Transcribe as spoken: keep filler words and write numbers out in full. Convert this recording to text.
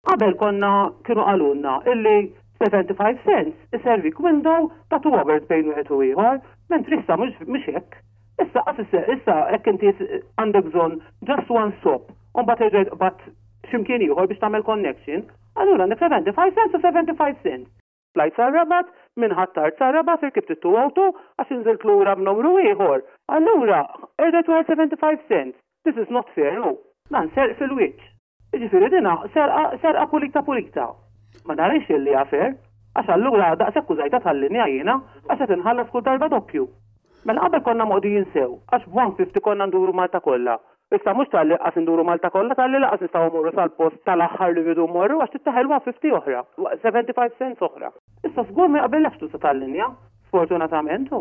Qabel konna kienu qalulna illi seventy-five cents iservik window ta' two hours bejn wieħed u ieħor, mentri issa mhux hekk. Issa issa hekk inti għandek bżonn just one stop, u mbagħad terġa' tqbad x'imkien ieħor biex tagħmel connection, allura għandek seventy-five cents u seventy-five cents. Tlajt sar-Rabat, minn Ħ'Attard sar-Rabat irkibt it-two oh two għax inżilt lura b'numru ieħor. Allura, erġajt wara seventy-five cents. This is not fair, no. Dan serq fil-wiċċ. Jiġifieri dina serqa serqa pulita pulita. Ma narix illi hija fair, għax allura daqshekk użajtha tal-linja jiena għax qed inħallas kull darba doppju. Mela qabel konna moqdijin sew, għax b'one fifty konna nduru Malta kollha. Issa mhux talli qas induru Malta kollha, talli lanqas nistgħu mmorru sal-post tal-aħħar li rridu mmorru għax trid one fifty oħra, seventy-five cents oħra. Issa żgur ma jaqbillekx tuża tal-linja, sfortunatament.